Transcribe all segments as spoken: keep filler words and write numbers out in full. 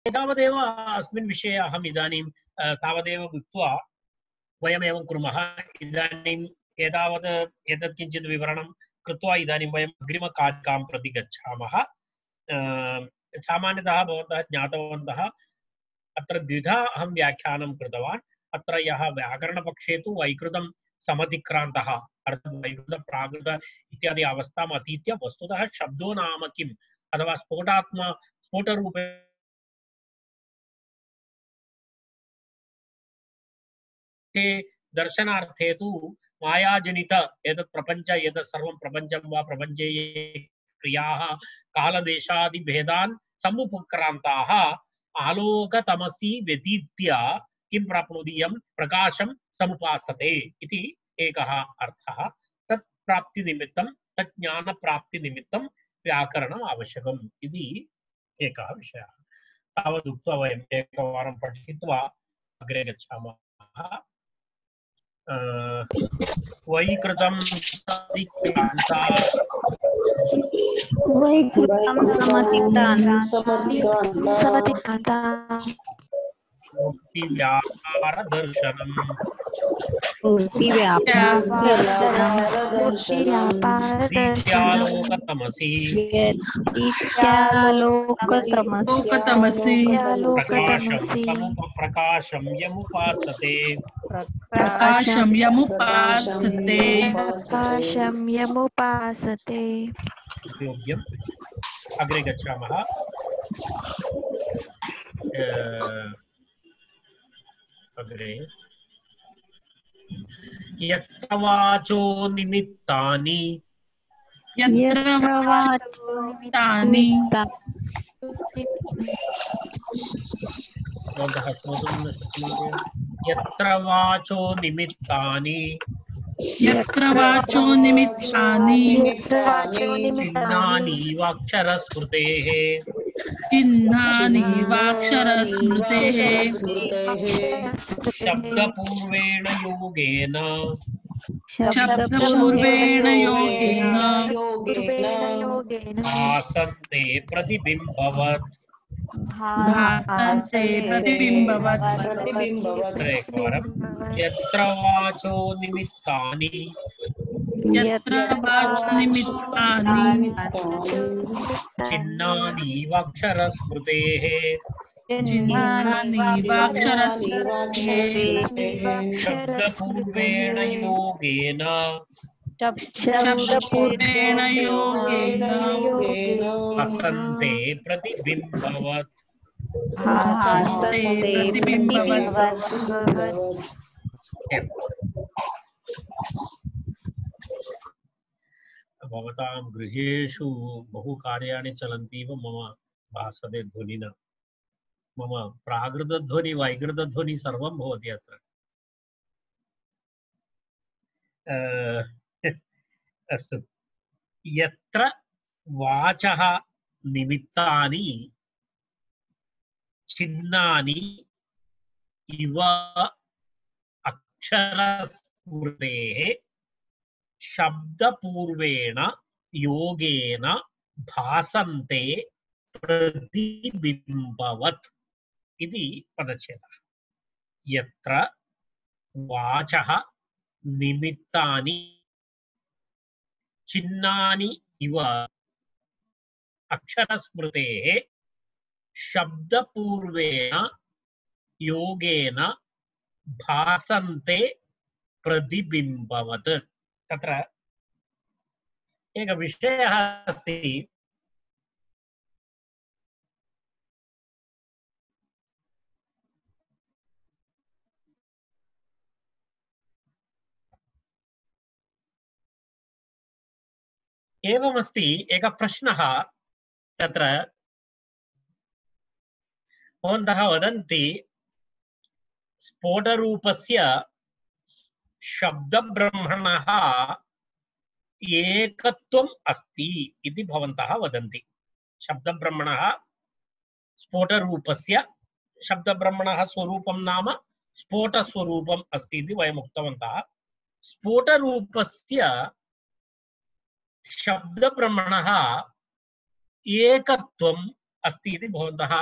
एतावदेव अस्मिन् विषये अहम् इदानीं तावदेव उक्त्वा वयम् एवं कुर्मः। इदानीम् एतावत् एतत् किञ्चित् विवरणं कृत्वा इदानीं वयम् अग्रिमकारिकां प्रति गच्छामः। सामान्यतः भवन्तः ज्ञातवन्तः अत्र द्विधा अहं व्याख्यानं कृतवान्। अत्र यः व्याकरणपक्षे तु वैकृतं समतिक्रान्तः अर्थात् वैकृत प्राकृत इत्यादि अवस्थाम् अतीत्य वस्तुतः शब्दो नाम किम् अथवा स्फोटात्मा स्फोटरूपे दर्शनार्थे तु मायाजनित एतत् प्रपञ्च एतत् सर्वं प्रपञ्चं वा प्रपञ्चे क्रियाः कालदेशादिभेदान् समुपक्रान्ताः आलोकतमसी व्यतीत्य किं प्राप्नोति यं प्रकाशं समुपासते इति एकः अर्थः। तत् प्राप्तिनिमित्तं तत् ज्ञानप्राप्तिनिमित्तं व्याकरणम् आवश्यकम् इति एकः विषयः। तावदुक्त्वा वयम् एकवारं पठित्वा अग्रे गच्छामः। वैकृतं समतिक्रान्ता वैकृतं समतिक्रान्ता मूर्तिव्यापार दर्शनम् दीप्यालोकतमसि प्रकाशं यमुपासते प्रकाशं यमुपासते प्रकाशं यमुपासते। योग्यम्। अग्रे गच्छामः। अग्रे यत्र वाचो निमित्तानि यत्र वाचो निमित्तानि यत्र वाचो निमित्तानि यत्र वाचो निमित्तानि चिह्नानि वाक्षरस्मृतेः चिह्नानि वाक्षरस्मृतेः शब्दपूर्वेण योगेन शब्दपूर्वेण योगेन भासन्ते प्रतिबिम्बवत् भासन्ते प्रतिबिम्बवत्। एकवारं यत्र वाचो निमित्तानि यत्र वाचो निमित्तानि चिह्नानि वाक्षरस्मृतेः चिह्नानि वाक्षरस्मृतेः शब्दपूर्वेण योगेन शब्दपूर्वेण योगेन भासन्ते प्रतिबिम्बवत् भासन्ते प्रतिबिम्बवत्। भवतां गृहेषु बहु कार्याणि चलन्तीव मम भासते ध्वनिना। मम प्राकृतध्वनि वैकृतध्वनि सर्वं भवति अत्र। अस्तु। यत्र वाचः निमित्तानि चिह्नानि इव अक्षरस्मृतेः शब्दपूर्वेण योगेन भासन्ते प्रतिबिम्बवत् इति पदच्छेदः। यत्र वाचः निमित्तानि चिह्नानि इव अक्षरस्मृतेः शब्दपूर्वेण योगेन भासन्ते प्रतिबिम्बवत्। तत्र एकः विषयः अस्ति। एवमस्ति एकः प्रश्नः। तत्र भवन्तः वदन्ति स्फोटरूपस्य शब्दब्रह्मणः एकत्वम् अस्ति इति भवन्तः वदन्ति। शब्दब्रह्मणः स्फोटरूपस्य शब्दब्रह्मणः स्वरूपं नाम स्फोटस्वरूपम् अस्ति इति वयम् उक्तवन्तः। स्फोटरूपस्य शब्दब्रह्मणः एकत्वम् अस्ति इति भवन्तः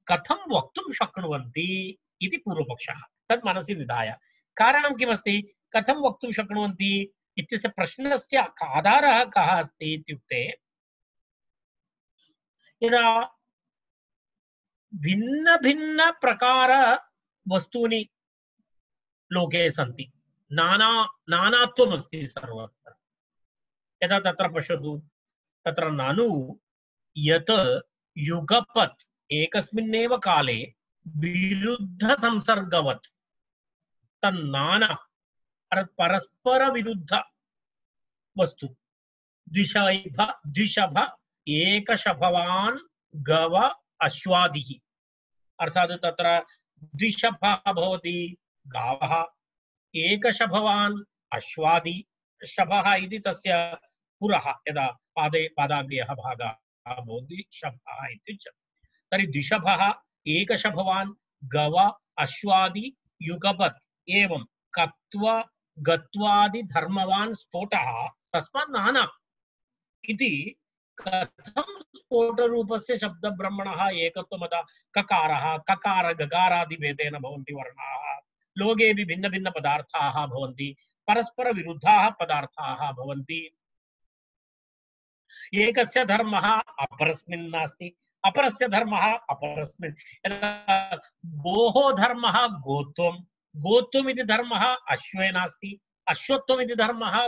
कथं वक्तुं शक्नुवन्ति इति पूर्वपक्षः। तत् मनसि निधाय कारणं किमस्ति, कथं वक्तुं शक्नुवन्ति इत्यस्य प्रश्नस्य आधारः कः अस्ति इत्युक्ते, यदा भिन्न भिन्न प्रकार वस्तूनि लोके सन्ति, नाना नानात्वम् अस्ति सर्वत्र। यदा तत्र पश्यतु, तत्र ननु यत् युगपत् एकस्मिन्नेव काले विरुद्ध संसर्गवत् तन्नाना परस्पर विरुद्ध वस्तु द्विशैभ द्विशभ एकशभवान् गव अश्वादिः, अर्थात् तत्र द्विशभः भवति गावः, एकशभवान् अश्वादि, शभः इति तस्य पुरः, यदा पादे पादाग्र्यः भागः भवति शभः इत्युच्यते। तर्हि द्विशभः एकशभवान् गव अश्वादि युगपत् एवं कत्व गत्वादि धर्मवान् स्फोटः तस्मात् नाना इति कथं स्फोटरूपस्य शब्दब्रह्मणः एकत्वमदा ककारः ककार गकारादिभेदेन भवन्ति वर्णाः, लोकेऽपि भिन्न भिन्न पदार्थाः भवन्ति, परस्पर विरुद्धाः पदार्थाः भवन्ति, एकस्य धर्मः अपरस्मिन् नास्ति, अपरस्य धर्मः अपरस्मिन्। यदा गोः धर्मः गोत्वं, गोत्वम् इति धर्मः अश्वे नास्ति, अश्वत्वम् इति धर्मः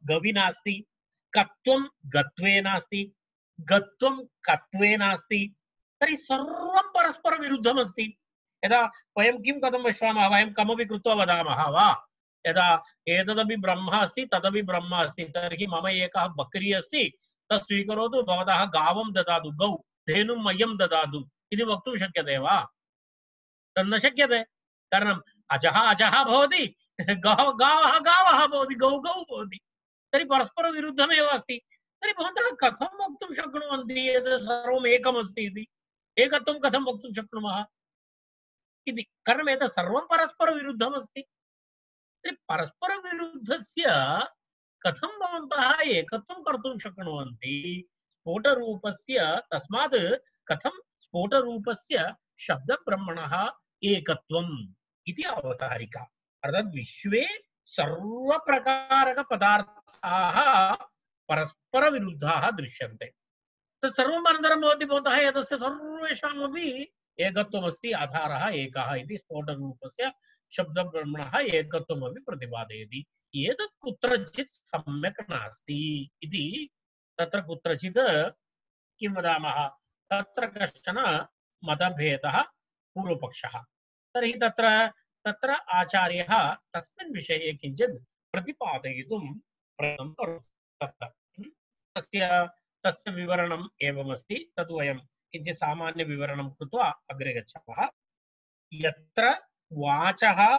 गवि नास्ति, कत्वं गत्वे नास्ति, गत्वं कत्वे नास्ति, तर्हि सर्वं परस्पर विरुद्धमस्ति। यदा वयं किं कथं पश्यामः, वयं कमपि कृत्वा वदामः वा, यदा एतदपि ब्रह्म अस्ति तदपि ब्रह्म अस्ति, तर्हि मम एकः बकरी अस्ति, तत् स्वीकरोतु, भवतः गावं ददातु, गौ धेनुं मह्यं ददातु इति वक्तुं शक्यते वा? तन्न शक्यते। कारणम् अजः अजः भवति, गावः गावः गावः भवति, गौ गौ भवति, तर्हि परस्पर विरुद्धमेव अस्ति। तर्हि भवन्तः कथं वक्तुं शक्नुवन्ति एतत् सर्वम् एकमस्ति इति? एकत्वं कथं वक्तुं शक्नुमः इति? कारणम् एतत् सर्वं परस्पर विरुद्धमस्ति। तर्हि परस्पर विरुद्धस्य कथं भवन्तः एकत्वं कर्तुं शक्नुवन्ति? स्फोटरूपस्य तस्मात् कथं स्फोटरूपस्य शब्दब्रह्मणः एकत्वम् इति अवतारिका। अर्थात् विश्वे सर्वप्रकारकपदार्थाः परस्पर विरुद्धाः दृश्यन्ते। तत् सर्वम् अनन्तरं भवति भवन्तः एतस्य सर्वेषामपि एकत्वमस्ति, आधारः एकः इति स्फोटरूपस्य शब्दब्रह्मणः एकत्वमपि प्रतिपादयति। एतत् कुत्रचित् सम्यक् नास्ति इति तत्र कुत्रचित् किं वदामः, तत्र कश्चन मतभेदः पूर्वपक्षः। तर्हि तत्र तत्र आचार्यः तस्मिन् विषये किञ्चित् प्रतिपादयितुं प्रयत्नं करोति। तस्य तस्य विवरणम् एवमस्ति, तद् वयं किञ्चित् सामान्यविवरणं कृत्वा अग्रे गच्छामः। यत्र वाचः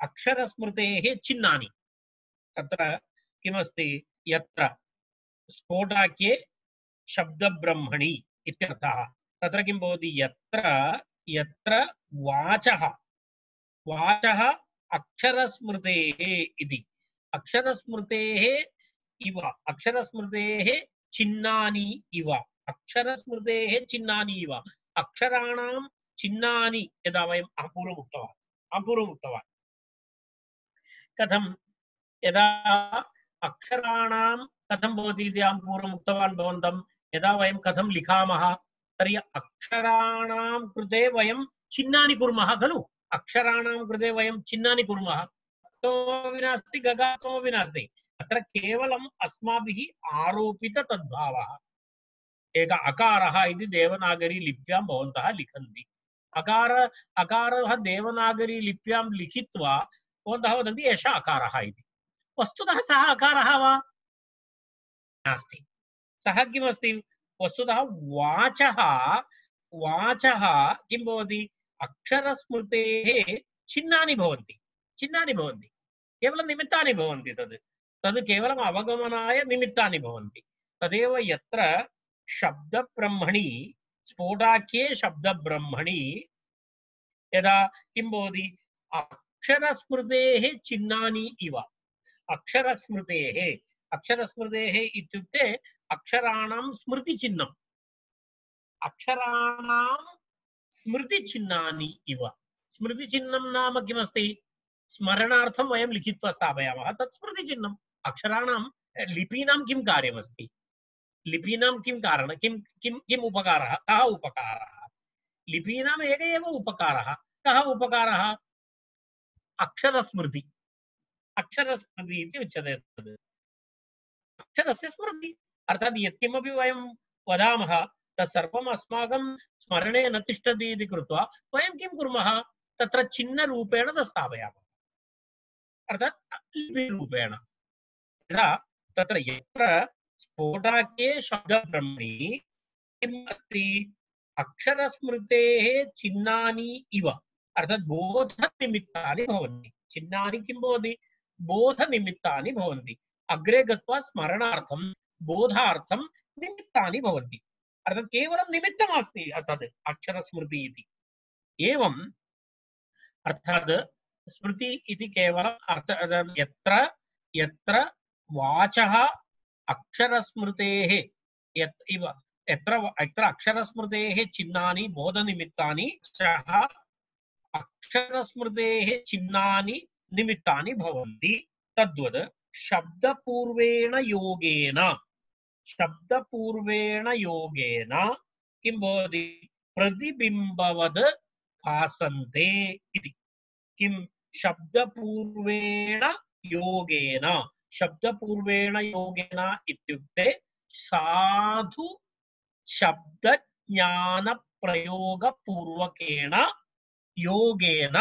अक्षरस्मृतेः चिह्नानि, तत्र किमस्ति, यत्र स्फोटाख्ये शब्दब्रह्मणि इत्यर्थः। तत्र किं भवति, यत्र यत्र वाचः वाचः अक्षरस्मृतेः इति, अक्षरस्मृतेः इव, अक्षरस्मृतेः चिह्नानि इव, अक्षरस्मृतेः चिह्नानि इव, अक्षराणां चिह्नानि यदा वयम् अपूर्वम् उक्तवान् अपूर्वम् उक्तवान् कथं, यदा अक्षराणां कथं भवति इति अहं पूर्वम् उक्तवान् भवन्तं, यदा वयं कथं लिखामः तर्हि अक्षराणां कृते वयं चिह्नानि कुर्मः खलु, अक्षराणां कृते वयं चिह्नानि कुर्मः, तत्त्वमपि नास्ति गगात्वमपि नास्ति, अत्र केवलम् अस्माभिः आरोपित तद्भावः। एक अकारः इति देवनागरी लिप्यां भवन्तः लिखन्ति, अकार अकारः देवनागरी लिप्यां लिखित्वा भवन्तः वदन्ति एषः अकारः इति। वस्तुतः सः अकारः वा नास्ति, सः किमस्ति, वस्तुतः वाचः वाचः किं भवति, अक्षरस्मृतेः चिह्नानि भवन्ति, चिह्नानि भवन्ति, केवलं निमित्तानि भवन्ति, तद् तद् केवलम् अवगमनाय निमित्तानि भवन्ति। तदेव यत्र शब्दब्रह्मणि, स्फोटाख्ये शब्दब्रह्मणि यदा किं भवति, अक्षरस्मृतेः चिह्नानि इव, अक्षरस्मृतेः अक्षरस्मृतेः इत्युक्ते अक्षराणां स्मृतिचिह्नं, अक्षराणां स्मृतिचिह्नानि इव। स्मृतिचिह्नं नाम किमस्ति? स्मरणार्थं वयं लिखित्वा स्थापयामः, तत् स्मृतिचिह्नम्। अक्षराणां लिपीनां किं कार्यमस्ति? लिपीनां किं कारणं? किं किं किम् उपकारः? कः उपकारः? लिपीनाम् एक एव उपकारः। कः उपकारः? अक्षरस्मृति। अक्षरस्मृति इति उच्यते तद्। अक्षरस्य स्मृति अर्थात् यत्किमपि वयं वदामः तत्सर्वम् अस्माकं स्मरणे न तिष्ठति इति कृत्वा वयं किं कुर्मः? तत्र चिह्नरूपेण तत् स्थापयामः, अर्थात् लिपिरूपेण। यदा तत्र यत्र स्फोटाख्ये शब्दब्रह्मणि किम् अस्ति? अक्षरस्मृतेः चिह्नानि इव, अर्थात् बोधनिमित्तानि भवन्ति। चिह्नानि किं भवति? बोधनिमित्तानि भवन्ति। अग्रे गत्वा स्मरणार्थं बोधार्थं निमित्तानि भवन्ति, अर्थात् केवलं निमित्तमस्ति तद् अक्षरस्मृति इति। एवम् अर्थात् स्मृति इति केवलम् अर्थ यत्र यत्र वाचः अक्षरस्मृतेः यत् इव यत्र यत्र अक्षरस्मृतेः चिह्नानि बोधनिमित्तानि सः अक्षरस्मृतेः चिह्नानि निमित्तानि भवन्ति। तद्वत् शब्दपूर्वेण योगेन शब्दपूर्वेण योगेन किं भवति? प्रतिबिम्बवद् भासन्ते इति। किं शब्दपूर्वेण योगेन? शब्दपूर्वेण योगेन इत्युक्ते साधु शब्दज्ञानप्रयोगपूर्वकेण योगेन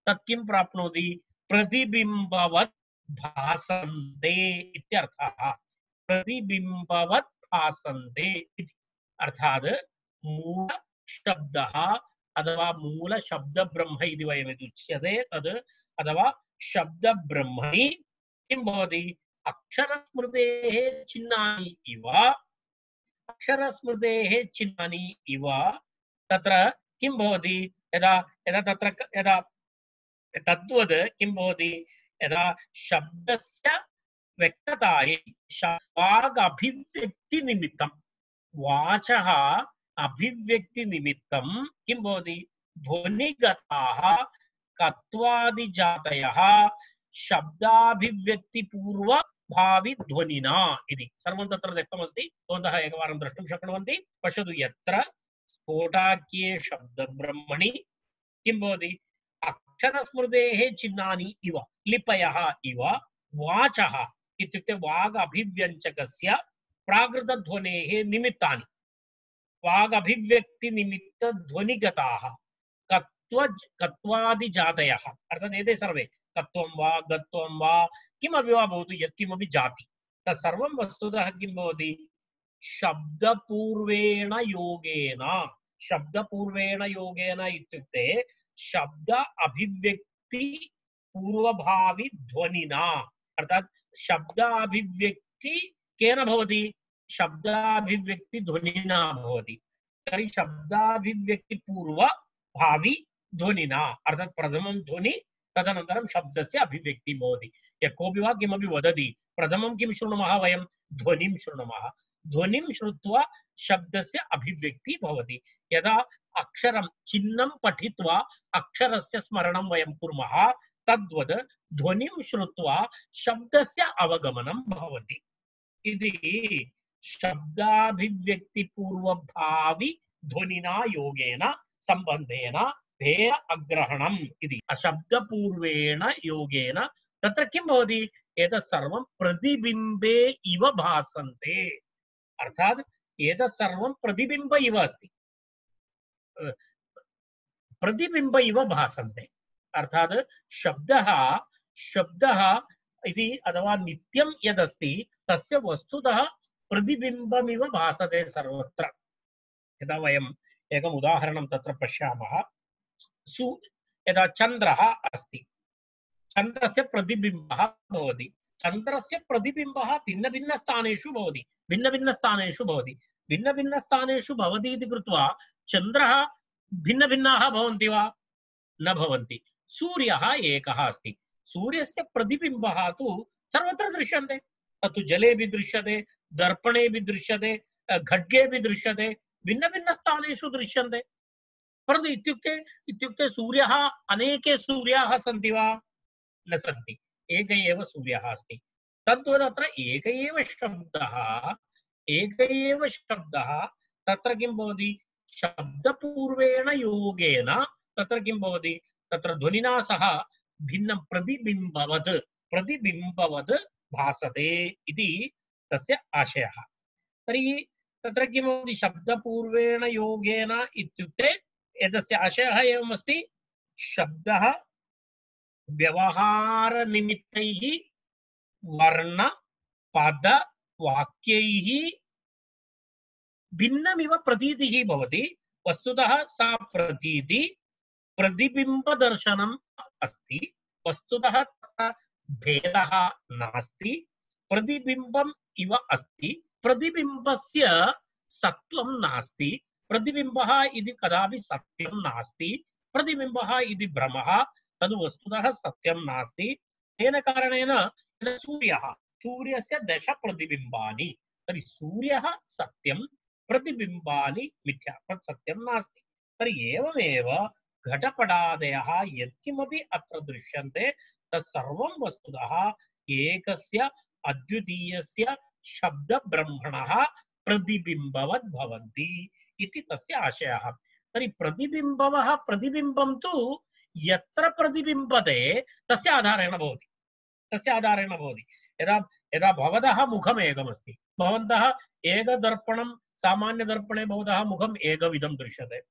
तत् किं प्राप्नोति? प्रतिबिम्बवत् भासन्ते इत्यर्थः। प्रतिबिम्बवत् भासन्ते इति अर्थात् मूल शब्दः अथवा मूल शब्दब्रह्म इति वयम् उच्यते तद्, अथवा शब्दब्रह्मणि किं भवति? अक्षरस्मृतेः चिह्नानि इव अक्षरस्मृतेः चिह्नानि इव तत्र किं भवति? यदा यदा तत्र यदा तद्वद् किं भवति? यदा शब्दस्य व्यक्ततायै वागभिव्यक्तिनिमित्तं वाचः अभिव्यक्तिनिमित्तं किं भवति? ध्वनिगताः कत्वादिजातयः शब्दाभिव्यक्तिपूर्वभाविध्वनिना इति सर्वं तत्र दत्तमस्ति। भवन्तः एकवारं द्रष्टुं शक्नुवन्ति। पश्यतु, यत्र स्फोटाख्ये शब्दब्रह्मणि किं भवति? अक्षरस्मृतेः चिह्नानि इव लिपयः इव वाचः इत्युक्ते वाग् अभिव्यञ्जकस्य प्राकृतध्वनेः निमित्तानि वाग् अभिव्यक्तिनिमित्त ध्वनिगताः कत्व कत्वादिजातयः, अर्थात् एते सर्वे कत्वं वा गत्वं वा किमपि वा भवतु, यत्किमपि जाति तत्सर्वं वस्तुतः किं भवति? शब्दपूर्वेण योगेन। शब्दपूर्वेण योगेन इत्युक्ते शब्द अभिव्यक्ति पूर्वभावि ध्वनिना, अर्थात् शब्दाभिव्यक्ति केन भवति? शब्दाभिव्यक्ति ध्वनिना भवति। तर्हि शब्दाभिव्यक्ति पूर्वभावि ध्वनिना, अर्थात् प्रथमं ध्वनि तदनन्तरं शब्दस्य अभिव्यक्ति भवति। यः कोऽपि वा किमपि वदति, प्रथमं किं शृणुमः वयं? ध्वनिं शृणुमः। ध्वनिं श्रुत्वा शब्दस्य अभिव्यक्ति भवति। यदा अक्षरं चिह्नं पठित्वा अक्षरस्य स्मरणं वयं कुर्मः, तद्वद् ध्वनिं श्रुत्वा शब्दस्य अवगमनं भवति। इति शब्दाभिव्यक्तिपूर्वभावि ध्वनिना योगेन सम्बन्धेन भेद अग्रहणम् इति। शब्दपूर्वेण योगेन तत्र किं भवति? एतत् सर्वं प्रतिबिम्बे इव भासन्ते, अर्थात् एतत् सर्वं प्रतिबिम्ब इव अस्ति, प्रतिबिम्ब इव भासन्ते। अर्थात् शब्दः शब्दः इति अथवा नित्यं यदस्ति तस्य वस्तुतः प्रतिबिम्बमिव भासते सर्वत्र। यदा वयम् एकम् उदाहरणं तत्र पश्यामः, सु यदा चन्द्रः अस्ति, चन्द्रस्य प्रतिबिम्बः भवति। चन्द्रस्य प्रतिबिम्बः भिन्नभिन्नस्थानेषु भवति भिन्नभिन्नस्थानेषु भवति भिन्नभिन्नस्थानेषु भवति इति कृत्वा चन्द्रः भिन्नभिन्नाः भवन्ति वा? न भवन्ति। सूर्यः एकः अस्ति, सूर्यस्य प्रतिबिम्बः तु सर्वत्र दृश्यन्ते। तत्तु जलेऽपि दृश्यते, दर्पणेऽपि दृश्यते, खड्गेऽपि दृश्यते, भिन्न भिन्न स्थानेषु दृश्यन्ते परन्तु इत्युक्ते इत्युक्ते सूर्यः अनेके सूर्याः सन्ति वा न सन्ति एक एव सूर्यः अस्ति तद्वत् अत्र एक एव शब्दः एक एव शब्दः तत्र किं भवति शब्दपूर्वेण योगेन तत्र किं भवति तत्र ध्वनिना सह भिन्नं प्रतिबिम्बवत् प्रतिबिम्बवत् भासते इति तस्य आशयः तर्हि तत्र किं भवति शब्दपूर्वेण योगेन इत्युक्ते एतस्य आशयः एवमस्ति शब्दः व्यवहारनिमित्तैः वर्ण पद वाक्यैः भिन्नमिव प्रतीतिः भवति वस्तुतः सा प्रतीति प्रतिबिम्बदर्शनम् अस्ति वस्तुतः भेदः नास्ति प्रतिबिम्बम् इव अस्ति प्रतिबिम्बस्य सत्त्वं नास्ति प्रतिबिम्बः इति कदापि सत्यं नास्ति प्रतिबिम्बः इति भ्रमः तद् वस्तुतः सत्यं नास्ति तेन कारणेन सूर्यः सूर्यस्य दश प्रतिबिम्बानि तर्हि सूर्यः सत्यं प्रतिबिम्बानि मिथ्या तत् सत्यं नास्ति तर्हि एवमेव घटपटादयः यत्किमपि अत्र दृश्यन्ते तत्सर्वं वस्तुतः एकस्य अद्वितीयस्य शब्दब्रह्मणः प्रतिबिम्बवत् भवन्ति इति तस्य आशयः तर्हि प्रतिबिम्बवः प्रतिबिम्बं तु यत्र प्रतिबिम्बते तस्य आधारेण भवति तस्य आधारेण भवति यदा यदा भवतः मुखम् एकमस्ति भवन्तः एकदर्पणं सामान्यदर्पणे भवतः मुखम् एकविधं दृश्यते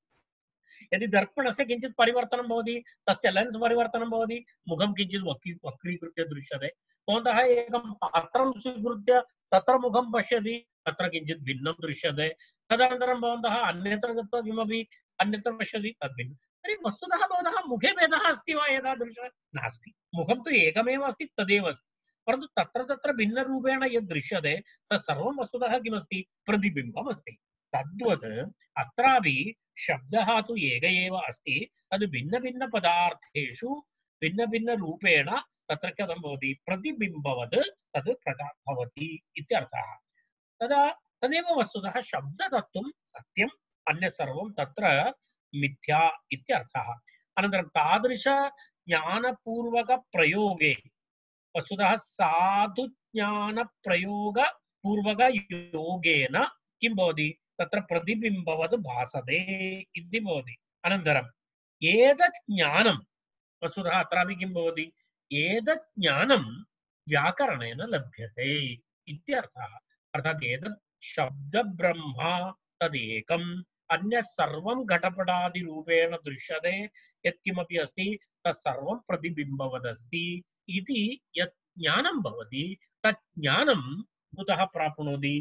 यदि दर्पणस्य किञ्चित् परिवर्तनं भवति तस्य लेन्स् परिवर्तनं भवति मुखं किञ्चित् वक्री वक्रीकृत्य दृश्यते भवन्तः एकं पात्रं स्वीकृत्य तत्र मुखं पश्यति तत्र किञ्चित् भिन्नं दृश्यते तदनन्तरं भवन्तः अन्यत्र गत्वा किमपि अन्यत्र पश्यति तद्भिन्नं तर्हि वस्तुतः भवतः मुखे भेदः अस्ति वा एतादृशः नास्ति मुखं तु एकमेव अस्ति तदेव अस्ति परन्तु तत्र तत्र भिन्नरूपेण यद् दृश्यते तत्सर्वं वस्तुतः किमस्ति प्रतिबिम्बम् अस्ति तद्वत् अत्रापि शब्दः तु एक एव अस्ति तद् भिन्नभिन्नपदार्थेषु भिन्नभिन्नरूपेण तत्र कथं भवति प्रतिबिम्बवत् तद् प्रका भवति इत्यर्थः तदा तदेव वस्तुतः शब्दतत्त्वं सत्यम् अन्यत् सर्वं तत्र मिथ्या इत्यर्थः अनन्तरं तादृश ज्ञानपूर्वकप्रयोगे वस्तुतः साधुज्ञानप्रयोगपूर्वकयोगेन किं भवति तत्र प्रतिबिम्बवत् भासते इति भवति अनन्तरम् एतत् ज्ञानं वस्तुतः अत्रापि किं भवति एतत् ज्ञानं व्याकरणेन लभ्यते इत्यर्थः अर्थात् एतत् शब्दब्रह्मा तदेकम् अन्यत् सर्वं घटपटादिरूपेण दृश्यते यत्किमपि अस्ति तत्सर्वं प्रतिबिम्बवदस्ति इति यत् ज्ञानं भवति तत् ज्ञानं कुतः प्राप्नोति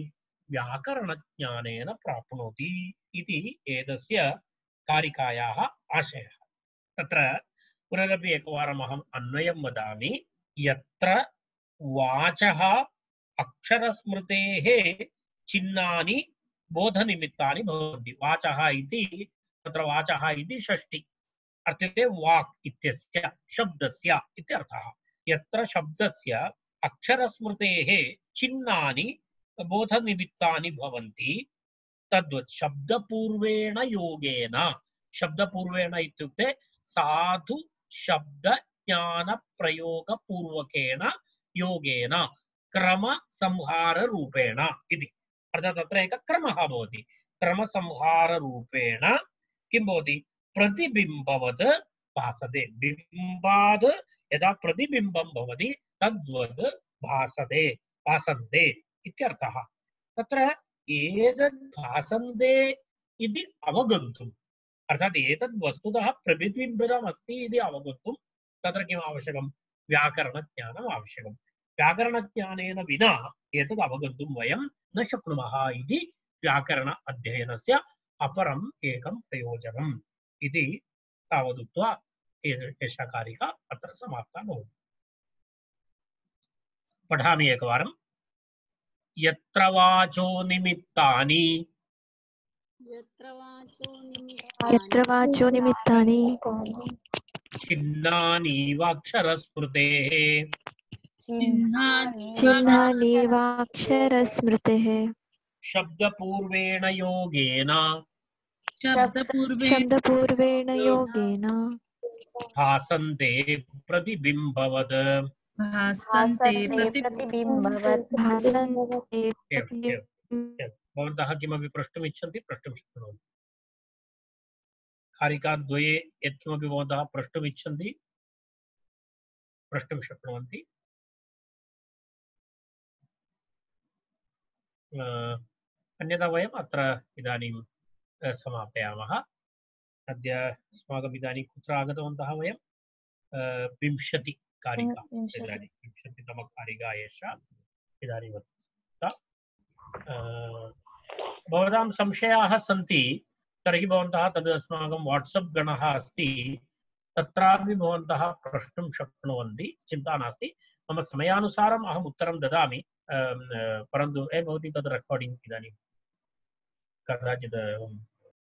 व्याकरणज्ञानेन प्राप्नोति इति एतस्य कारिकायाः आशयः तत्र पुनरपि एकवारम् अहम् अन्वयं वदामि यत्र वाचः अक्षरस्मृतेः चिह्नानि बोधनिमित्तानि भवन्ति वाचः इति तत्र वाचः इति षष्ठी अर्थात् वाक् इत्यस्य शब्दस्य इत्यर्थः यत्र शब्दस्य अक्षरस्मृतेः चिह्नानि बोधनिमित्तानि भवन्ति तद्वत् शब्दपूर्वेण योगेन शब्दपूर्वेण इत्युक्ते साधु शब्द ज्ञान प्रयोगपूर्वकेण योगेन क्रमसंहाररूपेण इति अर्थात् तत्र एकः क्रमः भवति क्रमसंहाररूपेण किं भवति प्रतिबिम्बवत् भासते बिम्बात् यदा प्रतिबिम्बं भवति तद्वत् भासते भासन्ते इत्यर्थः तत्र एतद् भासन्ते इति अवगन्तुम् अर्थात् एतद् वस्तुतः प्रतिबिम्बितम् अस्ति इति अवगन्तुं तत्र किम् आवश्यकं व्याकरणज्ञानम् आवश्यकं व्याकरणज्ञानेन विना एतद् अवगन्तुं वयं न शक्नुमः इति व्याकरण अध्ययनस्य अपरम् एकं प्रयोजनम् इति तावदुक्त्वा एषा कारिका अत्र समाप्ता भवति पठामि एकवारं यत्र वाचो निमित्तानि यत्र वाचो निमित्तानि चिह्नानि वाक्षरस्मृतेः चिह्नानि वाक्षरस्मृतेः शब्दपूर्वेण योगेन शब्दपूर्वे शब्दपूर्वेण योगेन भासन्ते प्रतिबिम्बवत् भासन्ते प्रति प्रतिबिम्बवत् भासन्ते एवम् एवम् एवम् भवन्तः किमपि प्रष्टुम् इच्छन्ति प्रष्टुं शक्नुवन्ति कारिकाद्वये यत्किमपि भवन्तः प्रष्टुम् इच्छन्ति प्रष्टुं शक्नुवन्ति अन्यथा वयम् अत्र इदानीं समापयामः अद्य अस्माकम् इदानीं कुत्र आगतवन्तः वयं विंशति कारिका इदानीं विंशतितमकारिका एषा इदानीं वर्तते भवतां संशयाः सन्ति तर्हि भवन्तः तद् अस्माकं वाट्सप् गणः अस्ति तत्रापि भवन्तः प्रष्टुं शक्नुवन्ति चिन्ता नास्ति मम समयानुसारम् अहम् उत्तरं ददामि परन्तु ए भवति तद् रेकार्डिङ्ग् इदानीं कदाचित्